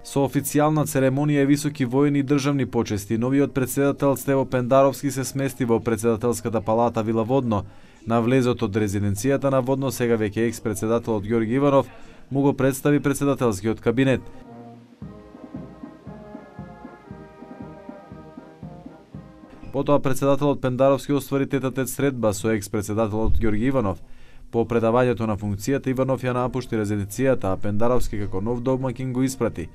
Со официјална церемонија и високи војни и државни почести, новиот претседател Стево Пендаровски се смести во претседателската палата Вила Водно. На влезот од резиденцијата на Водно, сега веќе екс-претседателот Ѓорги Иванов му го представи претседателскиот кабинет. Потоа претседателот Пендаровски оствари тет-а-тет средба со екс-претседателот Ѓорги Иванов. По предавањето на функцијата Иванов ја напушти резиденцијата, а Пендаровски како нов домаќин го испрати.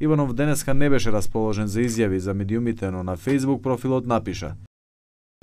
Иванов денеска не беше расположен за изјави за медиумите, но на Facebook профилот напиша: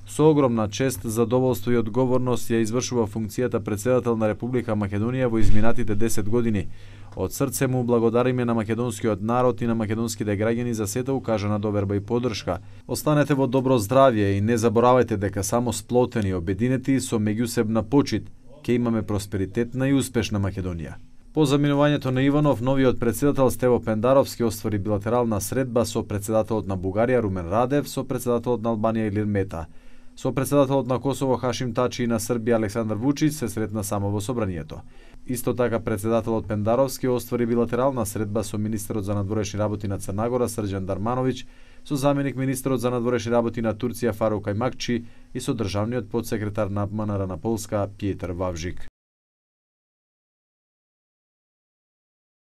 "Со огромна чест, задоволство и одговорност ја извршува функцијата претседател на Република Македонија во изминатите 10 години. Од срце му благодариме на македонскиот народ и на македонските граѓани за сета укажана доверба и поддршка. Останете во добро здравје и не заборавајте дека само сплотени, обединети со меѓусебна почит ќе имаме просперитетна и успешна Македонија." По заминувањето на Иванов, новиот претседател Стево Пендаровски оствари билатерална средба со претседателот на Бугарија Румен Радев, со претседателот на Албанија Илир Мета. Со претседателот на Косово Хашим Тачи и на Србија Александар Вучич се сретна само во собранието. Исто така претседателот Пендаровски оствари билатерална средба со министерот за надворешни работи на Црна Срđan Дармановиć, со заменик министерот за надворешни работи на Турција Фарук Ајмакчи и со државниот подсекретар на МНР на Полска Пјетар Вавжик.